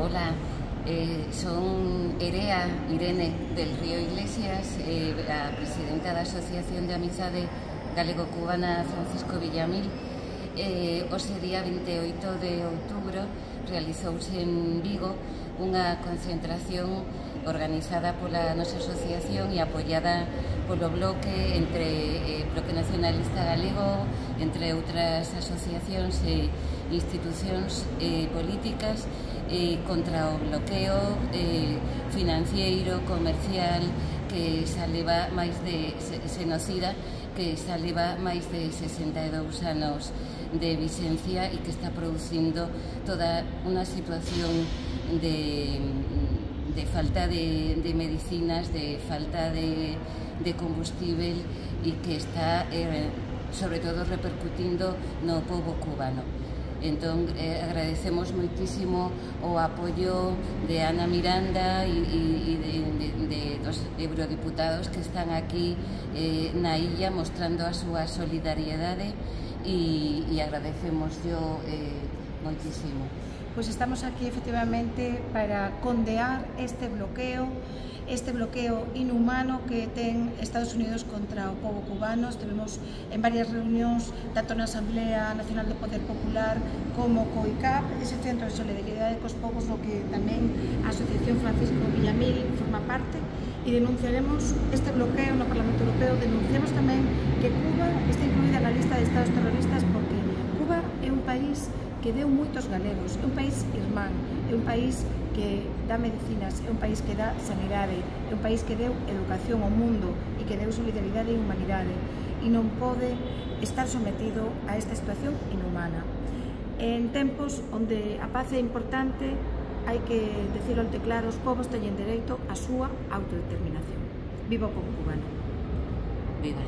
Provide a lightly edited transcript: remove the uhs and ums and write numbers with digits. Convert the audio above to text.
Hola, son Irene del Río Iglesias, a presidenta da Asociación de Amizade Galego-Cubana Francisco Villamil. Hoxe día 28 de outubro realizouse en Vigo unha concentración organizada pola nosa asociación e apoiada polo Bloque, entre Bloque Nacionalista Galego, entre outras asociacións e institucións políticas, contra o bloqueo financiero, comercial, que xa leva máis de xenocida, que xa leva máis de 62 anos de vixencia e que está producindo toda unha situación de falta de medicinas, de falta de combustible e que está sobre todo repercutindo no pobo cubano. Entón, agradecemos moitísimo o apoio de Ana Miranda e dos eurodiputados que están aquí na illa mostrando a súa solidariedade e agradecemos moitísimo. Pois estamos aquí efectivamente para condear este bloqueo inhumano que ten Estados Unidos contra o pobo cubano. Estivemos en varias reunións, tanto na Asamblea Nacional do Poder Popular como co ICAP, ese centro de solidaridade cos povos, no que tamén a Asociación Francisco Villamil forma parte, e denunciaremos este bloqueo no Parlamento Europeo. Denunciamos tamén que Cuba está incluída na lista de estados terroristas porque Cuba é un país que deu moitos galegos, é un país irmán, é un país que dá medicinas, é un país que dá sanidade, é un país que deu educación ao mundo e que deu solidaridade e humanidade, e non pode estar sometido a esta situación inhumana. En tempos onde a paz é importante, hai que decirlo alto e claro, os povos teñen dereito á súa autodeterminación. Viva o povo cubano. Viva.